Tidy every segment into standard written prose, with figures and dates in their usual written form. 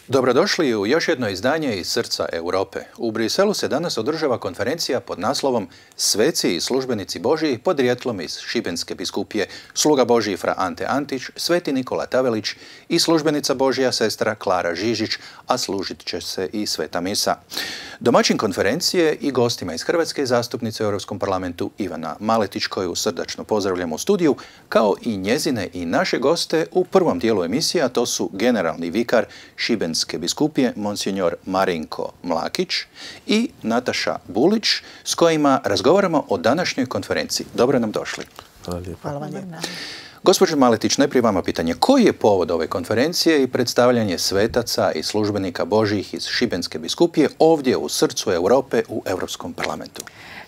Dobrodošli u još jedno izdanje iz srca Europe. U Briselu se danas održava konferencija pod naslovom Sveci i službenici Božji podrijetlom iz Šibenske biskupije, sluga Božji fra Ante Antić, sveti Nikola Tavelić i službenica Božja sestra Klara Žižić, a služit će se i sveta misa. Domaćin konferencije i gostima iz Hrvatske zastupnice u Europskom parlamentu Ivana Maletić, koju srdačno pozdravljamo u studiju, kao i njezine i naše goste u prvom dijelu emisije, a to su generalni vikar Šibenske biskupije, monsinjor Marinko Mlakić i Nataša Bulić, s kojima razgovaramo o današnjoj konferenciji. Dobro nam došli. Hvala lijepo. Hvala vam lijepo. Gospođo Maletić, najprije vama pitanje. Koji je povod ove konferencije i predstavljanje svetaca i službenika Božjih iz Šibenske biskupije ovdje u srcu Europe u Europskom parlamentu?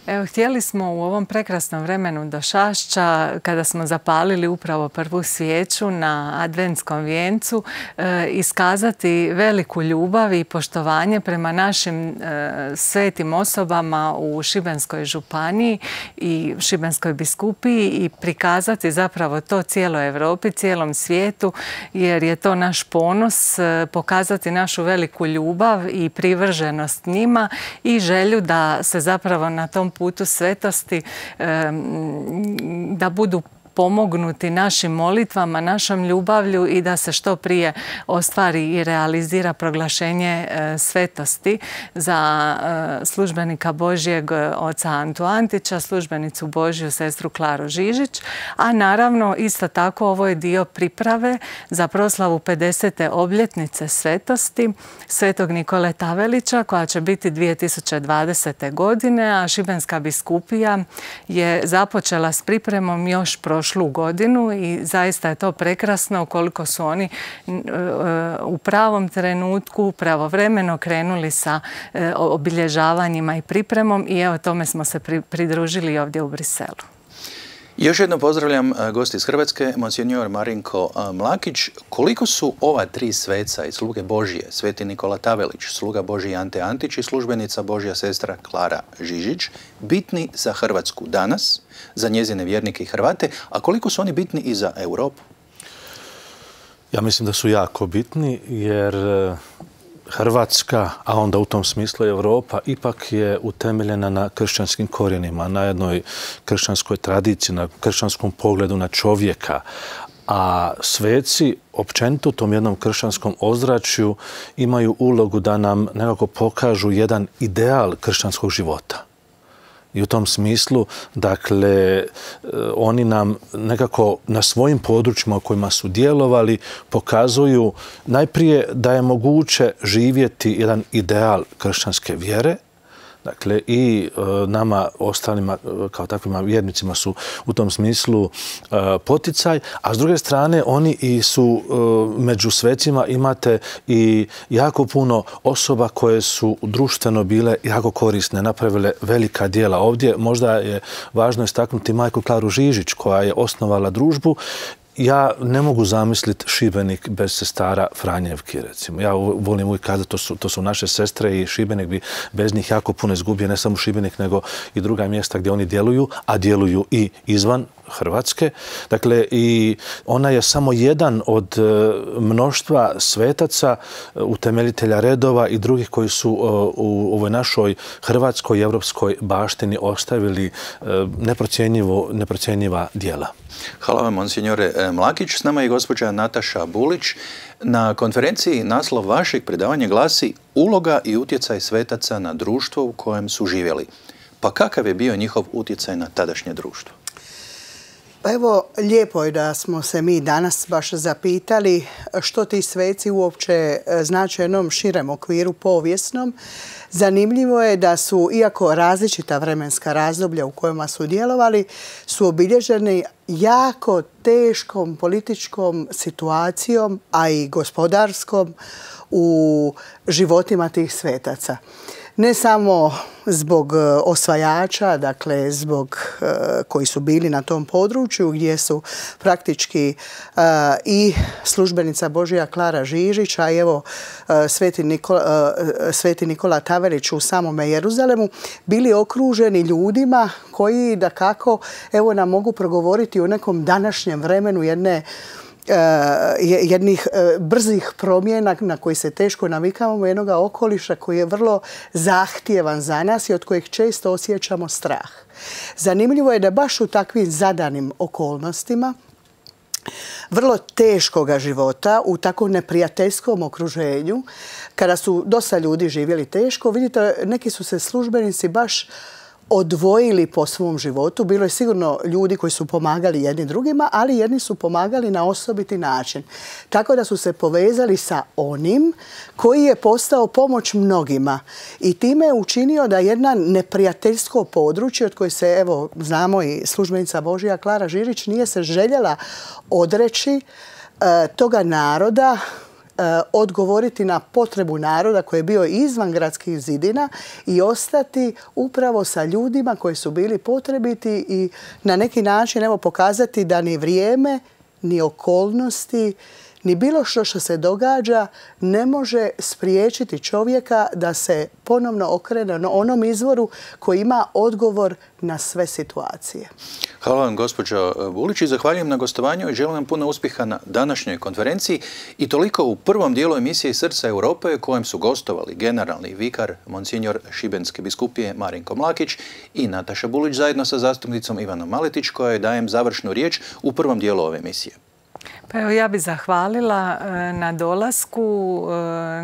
Evo, htjeli smo u ovom prekrasnom vremenu Došašća, kada smo zapalili upravo prvu svijeću na adventskom vijencu, iskazati veliku ljubav i poštovanje prema našim svetim osobama u Šibenskoj županiji i Šibenskoj biskupiji i prikazati zapravo to cijeloj Europi, cijelom svijetu, jer je to naš ponos, pokazati našu veliku ljubav i privrženost njima i želju da se zapravo na tom putu svetosti da budu pomognuti našim molitvama, našom ljubavlju i da se što prije ostvari i realizira proglašenje svetosti za službenika Božjeg oca Antu Antića, službenicu Božju sestru Klaru Žižić, a naravno isto tako ovo je dio priprave za proslavu 50. obljetnice svetosti svetog Nikole Tavelića, koja će biti 2020. godine, a Šibenska biskupija je započela s pripremom još prošlu godinu i zaista je to prekrasno koliko su oni u pravom trenutku, pravovremeno krenuli sa obilježavanjima i pripremom i evo tome smo se pridružili ovdje u Briselu. Još jednom pozdravljam gosti iz Hrvatske, monsinjor Marinko Mlakić. Koliko su ova tri sveca i sluge Božje, sveti Nikola Tavelić, sluga Božji Ante Antić i službenica Božja sestra Klara Žižić, bitni za Hrvatsku danas, za njezine vjernike i Hrvate, a koliko su oni bitni i za Europu? Ja mislim da su jako bitni jer Hrvatska, a onda u tom smislu Europa, ipak je utemeljena na kršćanskim korijenima, na jednoj kršćanskoj tradiciji, na kršćanskom pogledu na čovjeka. A sveci, općenito u tom jednom kršćanskom ozračju, imaju ulogu da nam nekako pokažu jedan ideal kršćanskog života. I u tom smislu, dakle, oni nam nekako na svojim područjima u kojima su djelovali pokazuju najprije da je moguće živjeti jedan ideal kršćanske vjere. Dakle, i nama ostalima kao takvima vjernicima su u tom smislu poticaj, a s druge strane oni i su među svecima imate i jako puno osoba koje su društveno bile jako korisne, napravile velika djela. Ovdje možda je važno istaknuti majku Klaru Žižić koja je osnovala družbu. Ja ne mogu zamisliti Šibenik bez sestara Franjevki, recimo. Ja volim uvijek kazati, to su naše sestre i Šibenik bi bez njih jako puno izgubio, ne samo Šibenik, nego i druga mjesta gdje oni djeluju, a djeluju i izvan Hrvatske. Dakle, i ona je samo jedan od mnoštva svetaca, utemeljitelja redova i drugih koji su u ovoj našoj hrvatskoj i evropskoj baštini ostavili neprocjenjiva djela. Hvala vam, monsinjore Mlakić. S nama je gospođa Nataša Bulić. Na konferenciji naslov vašeg predavanja glasi Uloga i utjecaj svetaca na društvo u kojem su živjeli. Pa kakav je bio njihov utjecaj na tadašnje društvo? Pa evo, lijepo je da smo se mi danas baš zapitali što ti sveci uopće znače u jednom širem okviru povijesnom. Zanimljivo je da su, iako različita vremenska razdoblja u kojima su djelovali, su obilježeni jako teškom političkom situacijom, a i gospodarskom u životima tih svetaca. Ne samo zbog osvajača, dakle zbog koji su bili na tom području gdje su praktički i službenica Božja Klara Žižić, a evo sveti Nikola Tavelić u samome Jeruzalemu, bili okruženi ljudima koji dakako evo nam mogu progovoriti o nekom današnjem vremenu jedne jednih brzih promjena na koji se teško navikavamo, jednog okoliša koji je vrlo zahtjevan za nas i od kojeg često osjećamo strah. Zanimljivo je da baš u takvim zadanim okolnostima vrlo teškoga života, u tako neprijateljskom okruženju, kada su dosta ljudi živjeli teško, vidite, neki su se službenici baš odvojili po svom životu. Bilo je sigurno ljudi koji su pomagali jedni drugima, ali jedni su pomagali na osobiti način. Tako da su se povezali sa onim koji je postao pomoć mnogima. I time je učinio da jedna neprijateljsko područje, od koje se, evo, znamo i službenica Božja Klara Žirić, nije se željela odreći toga naroda, odgovoriti na potrebu naroda koji je bio izvan gradskih zidina i ostati upravo sa ljudima koji su bili potrebiti i na neki način pokazati da ni vrijeme, ni okolnosti, ni bilo što se događa ne može spriječiti čovjeka da se ponovno okrene na onom izvoru koji ima odgovor na sve situacije. Hvala vam, gospođo Bulić, i zahvaljujem na gostovanju i želim vam puno uspjeha na današnjoj konferenciji. I toliko u prvom dijelu emisije Srca Europe u kojem su gostovali generalni vikar, monsinjor Šibenske biskupije Marinko Mlakić i Nataša Bulić zajedno sa zastupnicom Ivanom Maletić, kojoj dajem završnu riječ u prvom dijelu ove emisije. Pa evo, ja bih zahvalila na dolasku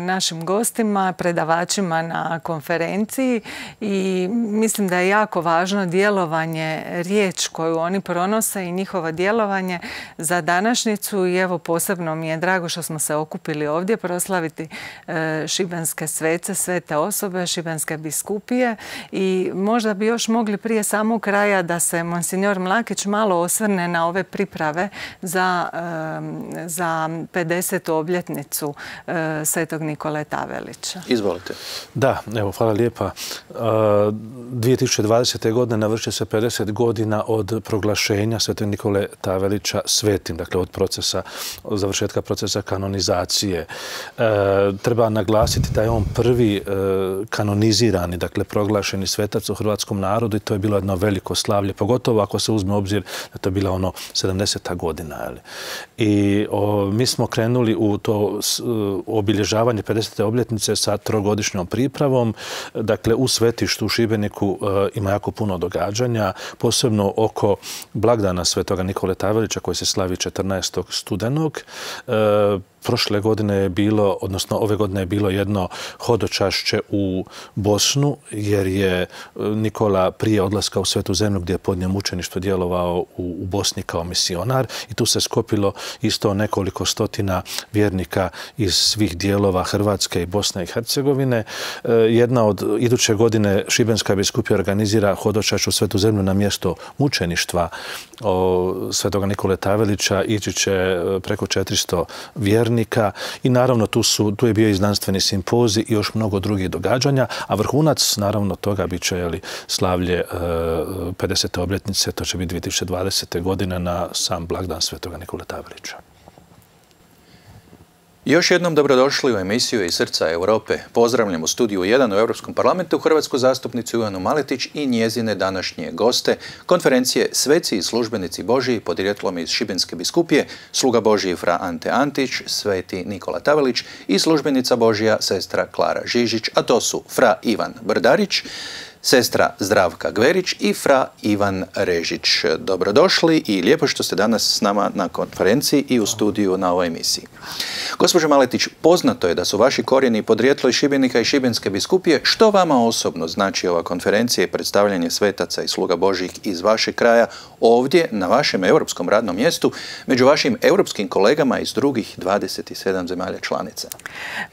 našim gostima, predavačima na konferenciji i mislim da je jako važno djelovanje, riječ koju oni pronose i njihovo djelovanje za današnjicu i evo posebno mi je drago što smo se okupili ovdje proslaviti šibenske svece, svete osobe, šibenske biskupije i možda bi još mogli prije samog kraja da se monsinjor Mlakić malo osvrne na ove priprave za 50. obljetnicu svetog Nikole Tavelića. Izvolite. Da, evo, hvala lijepa. 2020. godine navršuje se 50 godina od proglašenja svetog Nikole Tavelića svetim, dakle od završetka procesa kanonizacije. Treba naglasiti da je on prvi kanonizirani, dakle proglašeni svetac u hrvatskom narodu i to je bilo jedno veliko slavlje, pogotovo ako se uzme u obzir da to je bila 70. godina. I mi smo krenuli u to obilježavanje 50. obljetnice sa trogodišnjom pripravom. Dakle, u svetištu u Šibeniku ima jako puno događanja, posebno oko blagdana svetoga Nikole Tavelića koji se slavi 14. studenog. Prošle godine je bilo, odnosno ove godine je bilo jedno hodočašće u Bosnu, jer je Nikola prije odlaska u Svetu zemlju gdje je podnio mučeništvo djelovao u Bosni kao misionar i tu se skopilo isto nekoliko stotina vjernika iz svih dijelova Hrvatske i Bosne i Hercegovine. Jedna od iduće godine Šibenska biskupija organizira hodočašće u Svetu zemlju na mjesto mučeništva svetoga Nikole Tavelića. Ići će preko 400 vjernika i naravno tu je bio i znanstveni simpozij i još mnogo drugih događanja, a vrhunac naravno toga bit će slavlje 50. obljetnice, to će biti 2020. godine na sam blagdan svetoga Nikole Tavelića. Još jednom dobrodošli u emisiju iz Srca Europe. Pozdravljam u studiju 1 u Europskom parlamentu hrvatsku zastupnicu Ivanu Maletić i njezine današnje goste konferencije Sveci i službenici Božji podrijetlom iz Šibenske biskupije, sluga Božji fra Ante Antić, sveti Nikola Tavelić i službenica Božja sestra Klara Žižić, a to su fra Ivan Brdarić, sestra Zdravka Gverić i fra Ivan Režić. Dobrodošli i lijepo što ste danas s nama na konferenciji i u studiju na ovoj emisiji. Gospođo Maletić, poznato je da su vaši korijeni podrijetlo iz Šibenika i Šibenske biskupije. Što vama osobno znači ova konferencija i predstavljanje svetaca i sluga Božjih iz vašeg kraja ovdje na vašem europskom radnom mjestu među vašim europskim kolegama iz drugih 27 zemalja članica?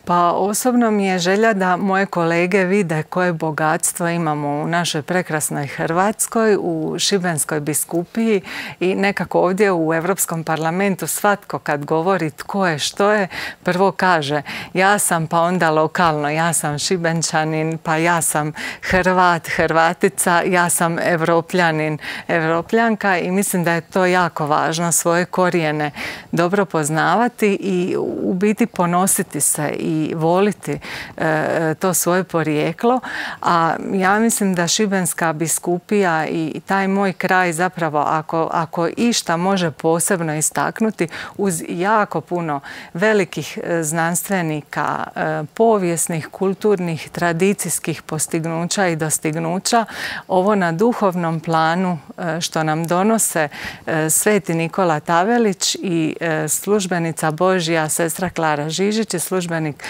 Pa osobno mi je želja da moje kolege vide koje bogatstvo imamo u našoj prekrasnoj Hrvatskoj, u Šibenskoj biskupiji i nekako ovdje u Europskom parlamentu svatko kad govori tko je što je, prvo kaže ja sam pa onda lokalno, ja sam Šibenčanin, pa ja sam Hrvat, Hrvatica, ja sam Evropljanin, Evropljanka i mislim da je to jako važno svoje korijene dobro poznavati i u biti ponositi se i voliti to svoje porijeklo. A ja mislim mislim da Šibenska biskupija i taj moj kraj zapravo ako išta može posebno istaknuti uz jako puno velikih znanstvenika, povijesnih, kulturnih, tradicijskih postignuća i dostignuća, ovo na duhovnom planu što nam donose sveti Nikola Tavelić i službenica Božja sestra Klara Žižić i službenik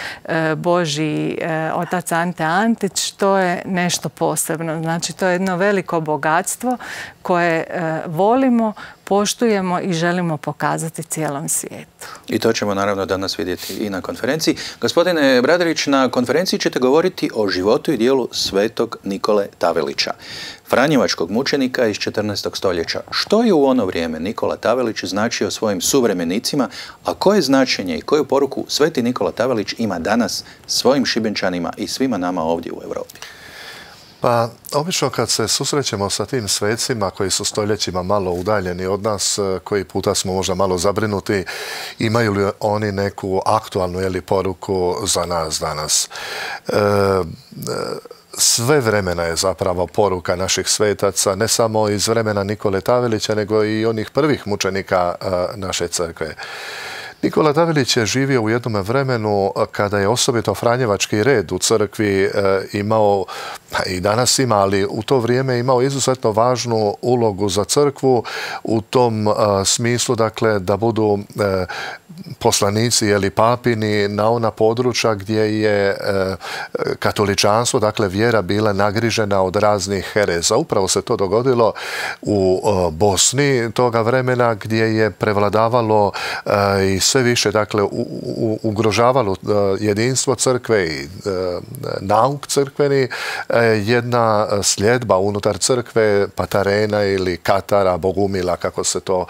Božji otac Ante Antić, to je nešto posebno. Znači, to je jedno veliko bogatstvo koje volimo, poštujemo i želimo pokazati cijelom svijetu. I to ćemo naravno danas vidjeti i na konferenciji. Gospodine Bradarić, na konferenciji ćete govoriti o životu i dijelu svetog Nikole Tavelića, franjevačkog mučenika iz 14. stoljeća. Što je u ono vrijeme Nikola Tavelić značio svojim suvremenicima, a koje značenje i koju poruku sveti Nikola Tavelić ima danas svojim Šibenčanima i svima nama ovdje u Europi? Pa, obično kad se susrećemo sa tim svecima koji su stoljećima malo udaljeni od nas, koji puta smo možda malo zabrinuti, imaju li oni neku aktualnu poruku za nas danas? Sve vremena je zapravo poruka naših svetaca, ne samo iz vremena Nikole Tavelića, nego i onih prvih mučenika naše crkve. Nikola Tavelić je živio u jednom vremenu kada je osobito franjevački red u crkvi imao, pa i danas ima, ali u to vrijeme imao izuzetno važnu ulogu za crkvu u tom smislu, dakle, da budu poslanici ili papini na ona područja gdje je katoličanstvo, dakle vjera, bila nagrižena od raznih hereza. Upravo se to dogodilo u Bosni toga vremena gdje je prevladavalo i sve više, dakle, ugrožavalo jedinstvo crkve i nauk crkveni, jedna sljedba unutar crkve, patarena ili katara, bogumila, kako se to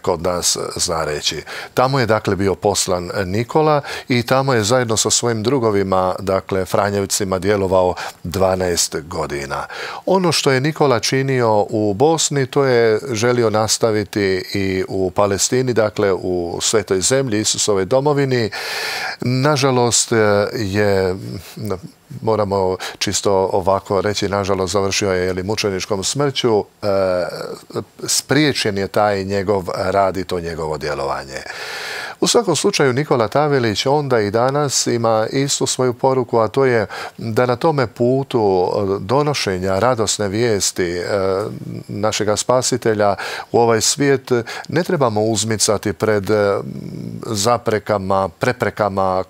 kod nas zna reći. Tamo je, dakle, bio poslan Nikola i tamo je zajedno sa svojim drugovima, dakle, Franjevcima, djelovao 12 godina. Ono što je Nikola činio u Bosni, to je želio nastaviti i u Palestini, dakle, u Svetoj zemlji, Isusovoj domovini. Nažalost je, moramo čisto ovako reći, nažalost završio je mučeničkom smrću, spriječen je taj njegov rad i to njegovo djelovanje. U svakom slučaju Nikola Tavelić onda i danas ima istu svoju poruku, a to je da na tome putu donošenja radosne vijesti našega spasitelja u ovaj svijet ne trebamo uzmicati pred zaprekama, preprekama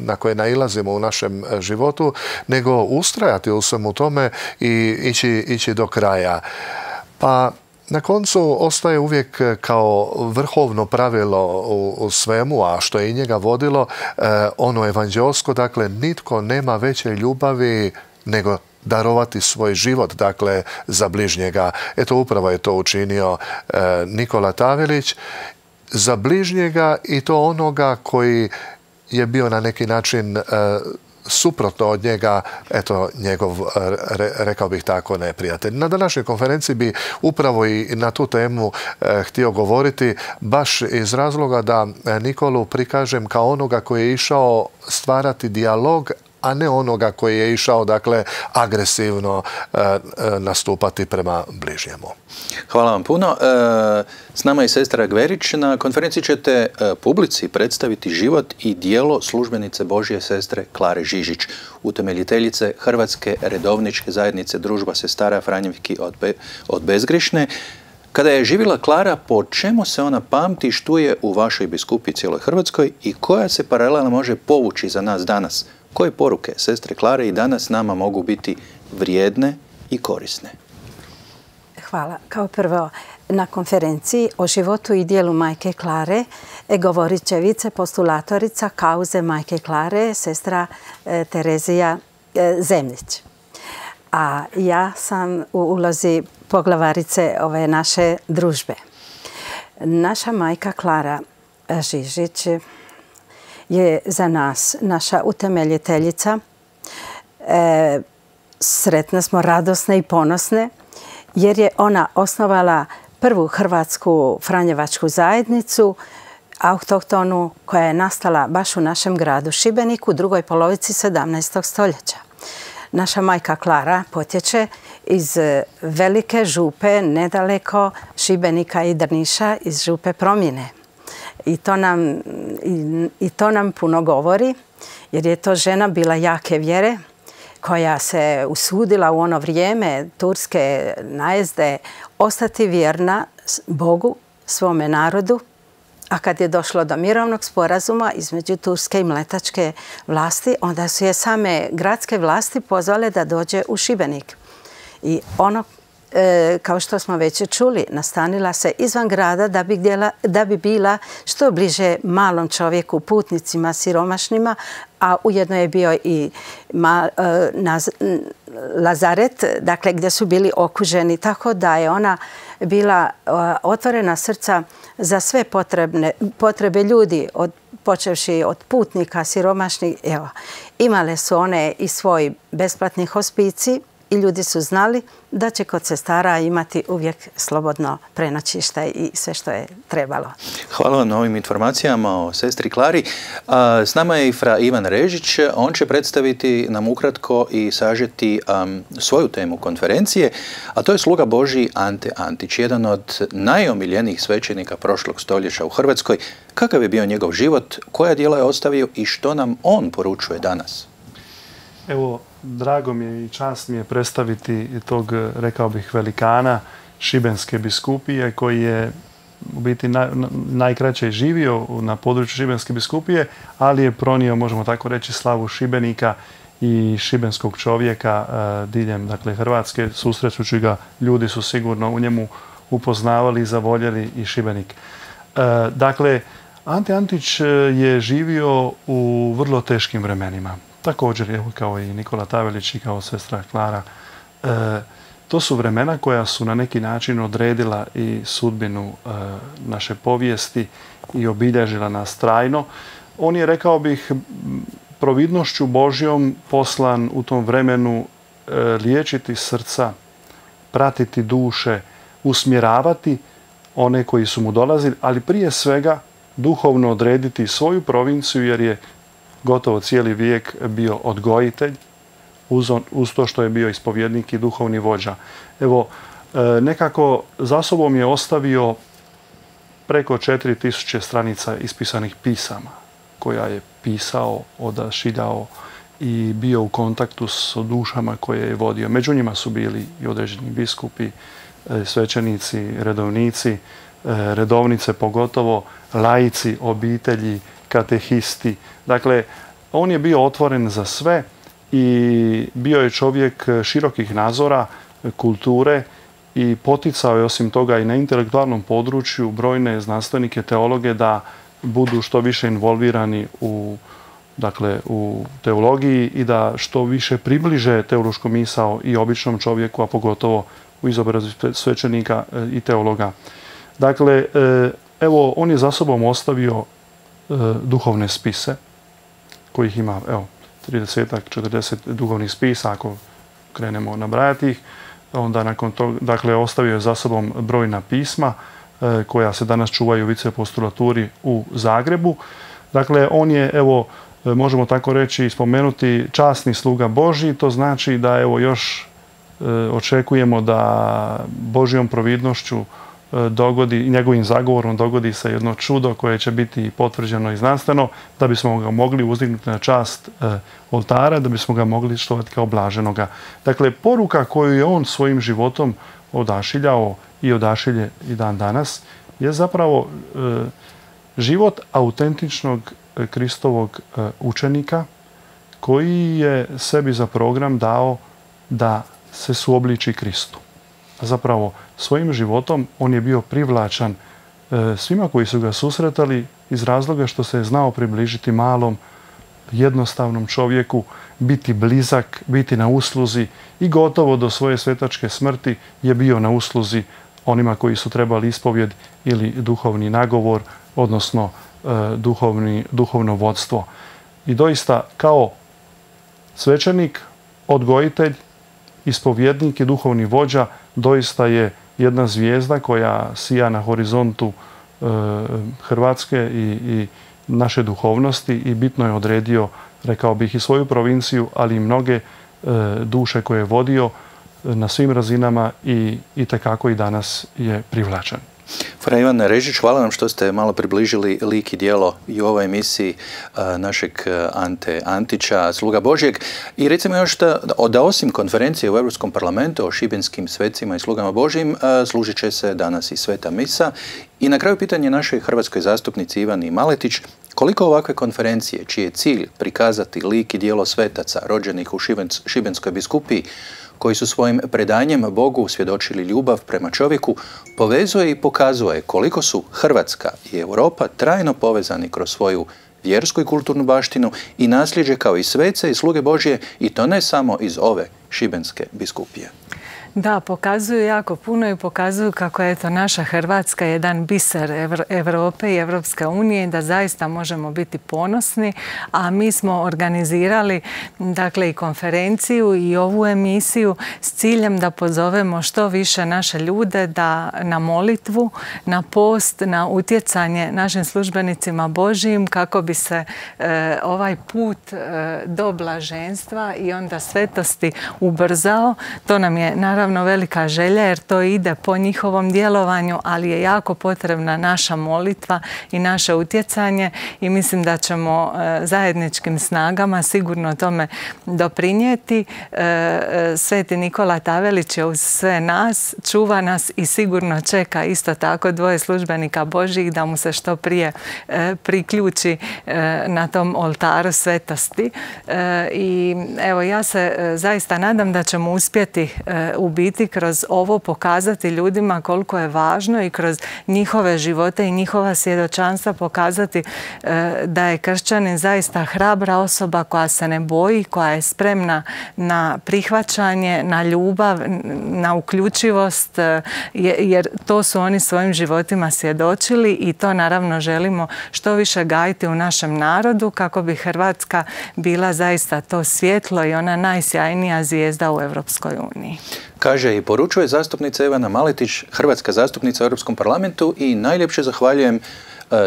na koje nailazimo u našem životu, nego ustrajati u svemu tome i ići do kraja. Pa na koncu ostaje uvijek kao vrhovno pravilo u svemu, a što je i njega vodilo, ono evanđelsko, dakle, nitko nema veće ljubavi nego darovati svoj život, dakle, za bližnjega. Eto, upravo je to učinio Nikola Tavelić za bližnjega i to onoga koji je bio na neki način suprotno od njega, eto, njegov, rekao bih tako, neprijatelj. Na današnjoj konferenciji bi upravo i na tu temu htio govoriti, baš iz razloga da Nikolu prikažem kao onoga koji je išao stvarati dijalog, a ne onoga koji je išao, dakle, agresivno nastupati prema bližnjemu. Hvala vam puno. S nama je sestra Gverić. Na konferenciji ćete publici predstaviti život i djelo službenice Božje sestre Klare Žižić, utemeljiteljice Hrvatske redovničke zajednice Družba sestara Franjevki od Bezgrešne. Kada je živjela Klara, po čemu se ona pamti, štuje u vašoj biskupiji cijeloj Hrvatskoj i koja se paralela može povući za nas danas? Koje poruke sestre Klare i danas nama mogu biti vrijedne i korisne? Hvala. Kao prvo, na konferenciji o životu i dijelu majke Klare govorit će vicepostulatorica kauze majke Klare, sestra Terezija Zemljić. A ja sam u ulozi poglavarice ove naše družbe. Naša majka Klara Žižić je za nas naša utemeljiteljica. Sretne smo, radosne i ponosne, jer je ona osnovala prvu hrvatsku franjevačku zajednicu, autohtonu, koja je nastala baš u našem gradu Šibeniku u drugoj polovici 17. stoljeća. naša majka Klara potječe iz Velike Župe, nedaleko Šibenika i Drniša, iz Župe Promjene. I to nam puno govori, jer je to žena bila jake vjere, koja se usudila u ono vrijeme turske najezde ostati vjerna Bogu, svome narodu. A kad je došlo do mirovnog sporazuma između turske i mletačke vlasti, onda su je same gradske vlasti pozvale da dođe u Šibenik. I ono, kao što smo već čuli, nastanila se izvan grada da bi bila što bliže malom čovjeku, putnicima, siromašnima, a ujedno je bio i lazaret, dakle gdje su bili okuženi, tako da je ona bila otvorena srca za sve potrebe ljudi, počevši od putnika, siromašnih. Evo, imale su one i svoj besplatni hospicij i ljudi su znali da će kod sestara imati uvijek slobodno prenoćište i sve što je trebalo. Hvala vam na ovim informacijama o sestri Klari. S nama je i fra Ivan Režić. On će predstaviti nam ukratko i sažeti svoju temu konferencije, a to je sluga Božji Ante Antić, jedan od najomiljenijih svećenika prošlog stoljeća u Hrvatskoj. Kakav je bio njegov život, koja djela je ostavio i što nam on poručuje danas? Evo, drago mi je i čast mi je predstaviti tog, rekao bih, velikana Šibenske biskupije, koji je u biti najkraće živio na području Šibenske biskupije, ali je pronio, možemo tako reći, slavu Šibenika i šibenskog čovjeka diljem, dakle, Hrvatske. Susrećući ga, ljudi su sigurno u njemu upoznavali i zavoljeli i Šibenik. Dakle, Ante Antić je živio u vrlo teškim vremenima. Također, evo, kao i Nikola Tavelić i kao sestra Klara. To su vremena koja su na neki način odredila i sudbinu naše povijesti i obilježila nas trajno. On je, rekao bih, providnošću Božjom poslan u tom vremenu liječiti srca, pratiti duše, usmjeravati one koji su mu dolazili, ali prije svega duhovno odrediti svoju provinciju, jer je gotovo cijeli vijek bio odgojitelj, uz to što je bio ispovjednik i duhovni vođa. Evo, nekako za sobom je ostavio preko 4000 stranica ispisanih pisama, koja je pisao, odašiljao i bio u kontaktu s dušama koje je vodio. Među njima su bili i određeni biskupi, svećenici, redovnici, redovnice pogotovo, laici, obitelji, katehisti. Dakle, on je bio otvoren za sve i bio je čovjek širokih nazora, kulture i poticao je osim toga i na intelektualnom području brojne znanstvenike, teologe da budu što više involvirani u teologiji i da što više približe teološku misao i običnom čovjeku, a pogotovo u izobrazbi svećenika i teologa. Dakle, evo, on je za sobom ostavio duhovne spise, kojih ima, evo, 30-40 duhovnih spisa, ako krenemo nabrajati ih. Onda nakon toga, dakle, ostavio je za sobom brojna pisma koja se danas čuvaju u viceapostolaturi u Zagrebu. Dakle, on je, evo, možemo tako reći i spomenuti, časni sluga Božji. To znači da, evo, još očekujemo da Božjom providnošću dogodi i njegovim zagovorom dogodi se jedno čudo koje će biti potvrđeno i znanstveno, da bismo ga mogli uzdignuti na čast oltara, da bismo ga mogli štovati kao blaženoga. Dakle, poruka koju je on svojim životom odašiljao i odašilje i dan danas je zapravo život autentičnog Kristovog učenika koji je sebi za program dao da se suobliči Kristu. Zapravo, svojim životom on je bio privlačan svima koji su ga susretali iz razloga što se je znao približiti malom, jednostavnom čovjeku, biti blizak, biti na usluzi i gotovo do svoje svetačke smrti je bio na usluzi onima koji su trebali ispovjed ili duhovni nagovor, odnosno duhovno vodstvo. I doista, kao svećenik, odgojitelj, ispovjednik i duhovni vođa, doista je jedna zvijezda koja sija na horizontu Hrvatske i naše duhovnosti i bitno je odredio, rekao bih, i svoju provinciju, ali i mnoge duše koje je vodio na svim razinama i tekako i danas je privlačan. Fra Ivan Režić, hvala vam što ste malo približili lik i djelo i u ovoj emisiji našeg Ante Antića, sluga Božjeg. I recimo još da osim konferencije u Europskom parlamentu o šibenskim svecima i slugama Božjim, služit će se danas i Sveta misa. I na kraju pitanje našoj hrvatskoj zastupnici Ivani Maletić, koliko ovakve konferencije, čiji je cilj prikazati lik i djelo svetaca rođenih u Šibenskoj biskupiji, koji su svojim predanjem Bogu svjedočili ljubav prema čovjeku, povezuje i pokazuje koliko su Hrvatska i Europa trajno povezani kroz svoju vjersku i kulturnu baštinu i nasljeđe kao i svece i sluge Božje, i to ne samo iz ove Šibenske biskupije. Da, pokazuju jako puno i pokazuju kako je to naša Hrvatska jedan biser Europe i Evropske unije i da zaista možemo biti ponosni, a mi smo organizirali dakle i konferenciju i ovu emisiju s ciljem da pozovemo što više naše ljude da na molitvu, na post, na utjecanje našim službenicima Božjim kako bi se ovaj put do blaženstva i onda svetosti ubrzao. To nam je naravno velika želja jer to ide po njihovom djelovanju, ali je jako potrebna naša molitva i naše utjecanje i mislim da ćemo zajedničkim snagama sigurno tome doprinijeti. Sveti Nikola Tavelić je uz sve nas, čuva nas i sigurno čeka isto tako dvoje službenika Božjih da mu se što prije priključi na tom oltaru svetosti. I evo, ja se zaista nadam da ćemo uspjeti u biti kroz ovo pokazati ljudima koliko je važno i kroz njihove živote i njihova svjedočanstva pokazati da je kršćanin zaista hrabra osoba koja se ne boji, koja je spremna na prihvaćanje, na ljubav, na uključivost, jer to su oni svojim životima svjedočili i to naravno želimo što više gajiti u našem narodu kako bi Hrvatska bila zaista to svjetlo i ona najsjajnija zvijezda u Europskoj uniji. Kaže i poručuje zastupnica Ivana Maletić, hrvatska zastupnica u Europskom parlamentu, i najljepše zahvaljujem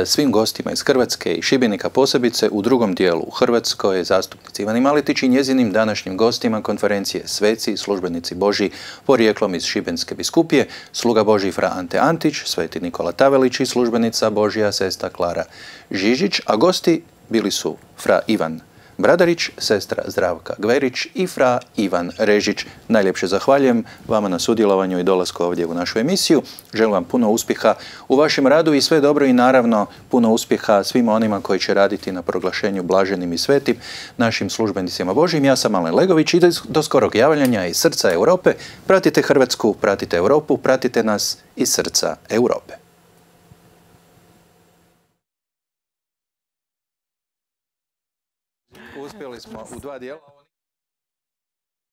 svim gostima iz Hrvatske i Šibenika posebice u drugom dijelu u Hrvatskoj, zastupnici Ivani Maletić i njezinim današnjim gostima konferencije sveci i službenici Božji porijeklom iz Šibenske biskupije, sluga Božji fra Ante Antić, sveti Nikola Tavelić i službenica Božja sestra Klara Žižić, a gosti bili su fra Ivan Bradarić, sestra Zdravka Gverić i fra Ivan Režić. Najljepše zahvaljujem vama na sudjelovanju i dolasku ovdje u našu emisiju. Želim vam puno uspjeha u vašem radu i sve dobro, i naravno puno uspjeha svima onima koji će raditi na proglašenju blaženim i svetim našim službenicima Božjim. Ja sam Alen Legović i do skorog javljanja iz srca Europe. Pratite Hrvatsku, pratite Europu, pratite nas iz srca Europe. Uspjeli smo u 2 dijela.